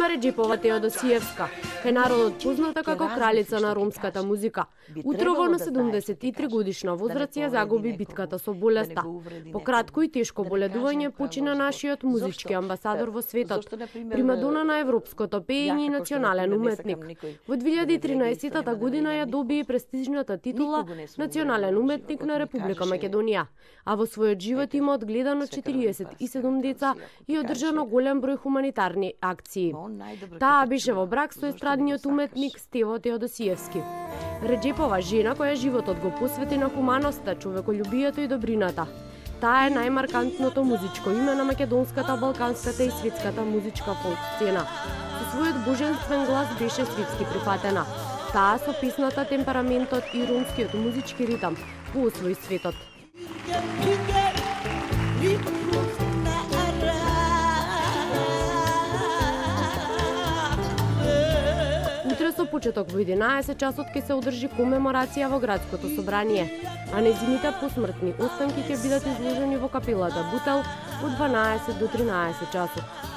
Нима Реџепова Теодосиевска, кај народот позната како кралица на ромската музика. Утрово на 73 годишна возраст ја загуби битката со болеста. По кратко и тешко боледување почина нашиот музички амбасадор во светот, примадона на европското пеење и национален уметник. Во 2013 година ја доби престижната титула Национален уметник на Република Македонија, а во својот живот има одгледано 47 деца и одржано голем број хуманитарни акции. Таа беше во брак со естрадниот уметник Стево Теодосиевски. Реџепова жена која животот го посвети на хуманоста, човеколюбието и добрината. Таа е најмаркантното музичко име на македонската, балканската и светската музичка фолк сцена. Со својот божествен глас беше светски прифатена. Таа со песната, темпераментот и ромскиот музички ритам го освои светот. Утре со почеток во 11 часот ќе се одржи комеморација во градското собрание, а нејзините посмртни останки ќе бидат изложени во капелата Бутел од 12 до 13 часот.